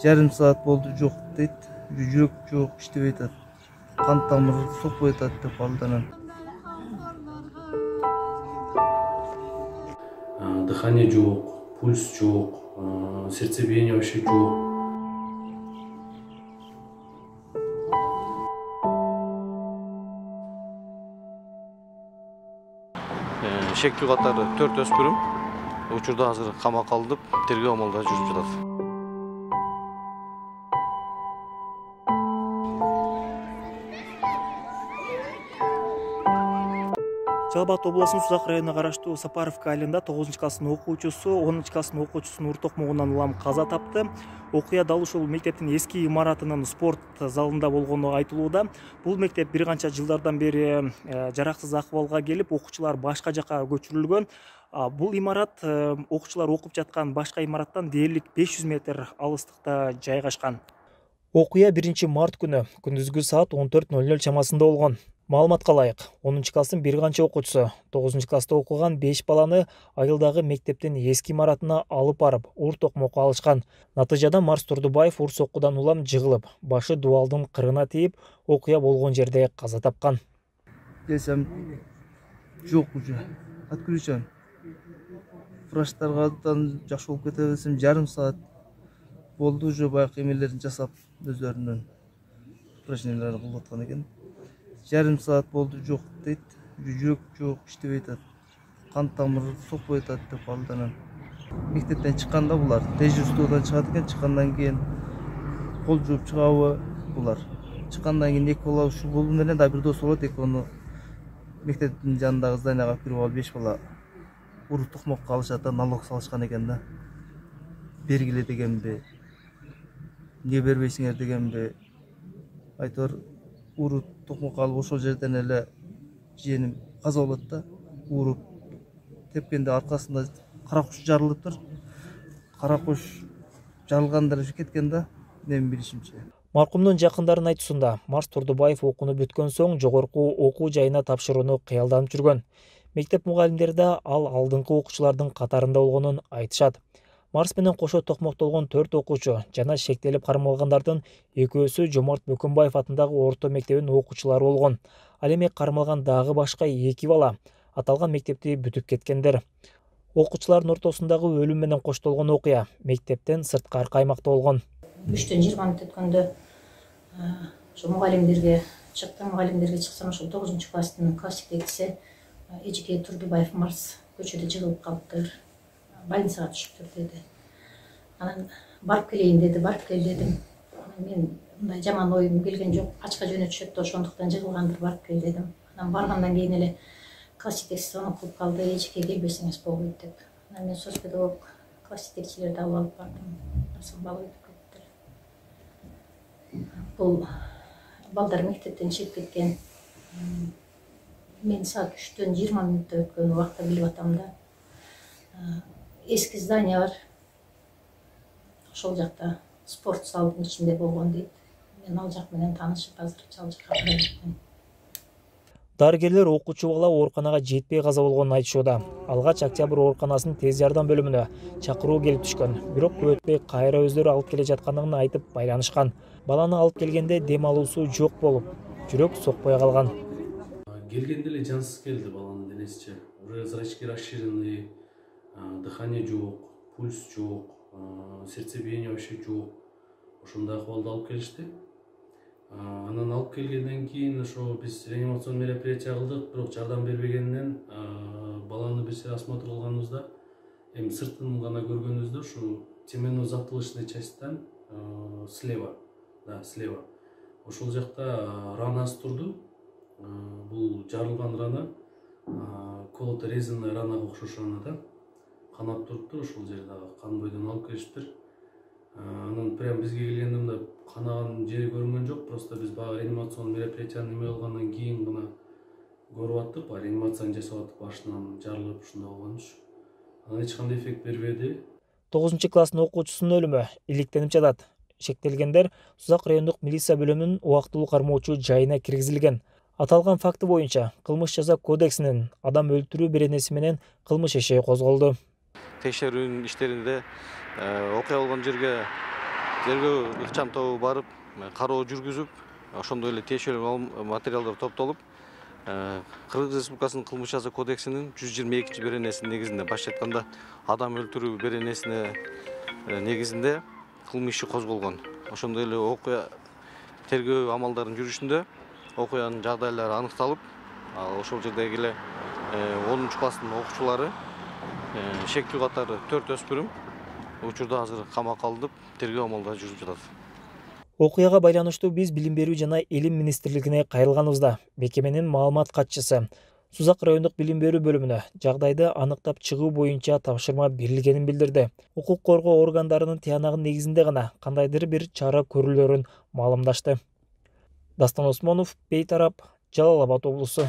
Жарым саат болду жок дейт. Жүрөк жок, иштебей атат. Кан тамыры сокпой атат деп алданан. Дыхание жок, пульс жок, сердцебиение вообще жок. Шектүү катары 4 өспүрүм учурда азыр камакка алынып, тергөө амалдары жүрүп жатат. Жалал Абад облусунун Сузак районуна караштуу Сапаровка айылында 9-класстын окуучусу 10-класстын окуучусунун уур токмогунан улам каза тапты. Окуя дал ушул мектептин эски имаратынын спорт залында болгону айтылууда. Бул мектеп бир канча жылдардан бери жараксыз акыбалга келип, окуучулар башка жака көчүрүлгөн. Бул имарат окуучулар окуп жаткан башка имараттан дээрлик 500 метр алыстыкта жайгашкан. Окуя 1-март күнү күндүзгү саат 14:00 чамасында болгон. Маалыматка ылайык, 10-класстын бир канча окуучусу 9-класста окуган 5 баланы айылдагы мектептин эски имаратына алып барып, уур токмокко алышкан. Натыйжада Марс Турдубаев уур соккудан улам жыгылып, башы дубалдын кырына тийип, окуя болгон жерде каза тапкан. Десем жок уже. Откручан. Врачтардан жакшы болуп кете берсем, жарым саат болду уже баягы эмелерин жасап, өздөрүнүн упражненияларын кылып аткан экен. Жарым саат болду жок дейт. Жүрөк жок, иштебей атат. Кан тамыры сокпой атат деп алданан. Мектептен чыкканда булар дежурстводан чыгат экен, чыккандан кийин кол жууп чыгабы булар. Чыккандан кийин эки бала ушул болуу менен да бир дос болот, экөөнү мектептин жанындагы зданияга алып кирип алып 5 бала уур токмокко алышат да, налог салышкан экен да. Бергиле дегенби, эмне бербейсиңер дегенби. Айтор уур токмокко алып ошол жерден эле жиеним каза болот да. Ууруп тепкенде аркасында кара куш жарылыптыр. Кара куш жарылгандар кеткен да, менин билишимче. Маркумдун жакындарынын айтуусунда, Марс Турдубаев окууну бүткөн соң жогорку окуу жайына тапшырууну кыялданып жүргөн. Мектеп мугалимдери да ал алдыңкы окуучулардын катарында болгонун айтышат. Марс менен кошо токмоктолгон 4 окуучу жана шектелип кармалгандардын экөөсү Жомарт Бөкөнбаев атындагы орто мектебинин окуучулары болгон. Ал эми кармалган дагы башка 2 бала аталган мектепти бүтүп кеткендер. Окуучулардын ортосундагы өлүм менен коштолгон окуя мектептен сырткары аймакта болгон. 3-20 мүнөт өткөндө мугалимдерге чыктым. Мугалимдерге чыксам, ошол 9-класстын класс жетекчиси Эжеке Турдубаев Марс көчөдө жыгылып калыптыр, больницага түшүптүр деди. Анан барып келейин деди, барып кел дедим. Мен мындай жаман оюм келген жок, ачка жөнөтүшөт да, ошондуктан жыгылгандыр, барып кел дедим. Анан баргандан кийин эле класс жетекчиси звонок кылып калды, Эжеке келбесеңиз болбойт деп. Анан мен соц педагог класс жетекчилерди алып бардым. Бала өтүп кетти. Бул балдар мектептен чыгып кеткен. Мен саат 3-20 мүнөттө өткөн убакта билип атам да. Эски здание бар. Ошол жакта спорт залдын ичинде болгон дейт. Мен ал жак менен таанышып, азыр ал жакка барып кеттим. Дарыгерлер окуучу бала ооруканага жетпей каза болгонун айтышууда. Алгач Октябрь ооруканасынын тез жардам бөлүмүнө чакыруу келип түшкөн. Бирок көп өтпөй кайра өздөрү алып келе жаткандыгын айтып байланышкан. Баланы алып келгенде дем алуусу жок болуп, жүрөк сокпой калган. Келгенде эле жансыз келди баланын денесичи. Уже зрачки расширены, дыхание жок, пульс жок, сердцебиение вообще жок. Ошондой акыбалда алып келишти. Анан алып келгенден кийин ошо биз реанимацион мероприятие кылдык, бирок жардам бербегенинен баланы биз осмотр кылганыбызда, эми сыртын гана көргөнүбүздө ушу теменно-затылочный частьтан слева, слева. Ошол жакта ранасы турду. Бул жарылган рана, колото резанный ранага окшош рана да. Канап туруптур, ошол жерде кан бойдон алып келиптир. Анан прям бизге келгенде мындай канаган жери көрүнгөн жок, просто биз баягы реанимацион мероприятияны неме кылгандан кийин гана көрүп аттык, реанимацияны жасап аттык, башынан жарылып ушундай болгонуш. Анан эч кандай эффект бербеди. 9-класстын окуучусунун өлүмү иликтенип жатат. Шектелгендер Сузак райондук милиция бөлүмүнүн убактылуу кармоочу жайына киргизилген. Аталган факты боюнча кылмыш жаза кодексинин адам өлтүрүү беренеси менен кылмыш иши козголду. текшерүү иштеринде окуя болгон жерге тергөө ыкчам тобу барып кароо жүргүзүп, ошондой эле тиешелүү материалдар топтолуп, Кыргыз Республикасынын кылмыш жаза кодексинин 122 беренесинин негизинде, башкача айтканда адам өлтүрүү беренесине негизинде кылмыш иши козголгон. Ошондой эле окуя тергөө амалдарынын жүрүшүндө окуянын жагдайлары аныкталып, ошол жердеги эле 10 класстын окуучулары шектүү катары 4 өспүрүм учурда азыр камакка алынып, тергөө амалдары жүрүп жатат. Окуяга байланыштуу биз Билим берүү жана Илим министрлигине кайрылганыбызда мекеменин маалымат катчысы Сузак райондук билим берүү бөлүмүнө жагдайды аныктап чыгуу боюнча тапшырма берилгенин билдирди. Укук коргоо органдарынын тыянагы негизинде гана кандайдыр бир чара көрүлөрүн маалымдашты. Дастан Осмонов, Бейтарап, Жалал Абад облусу.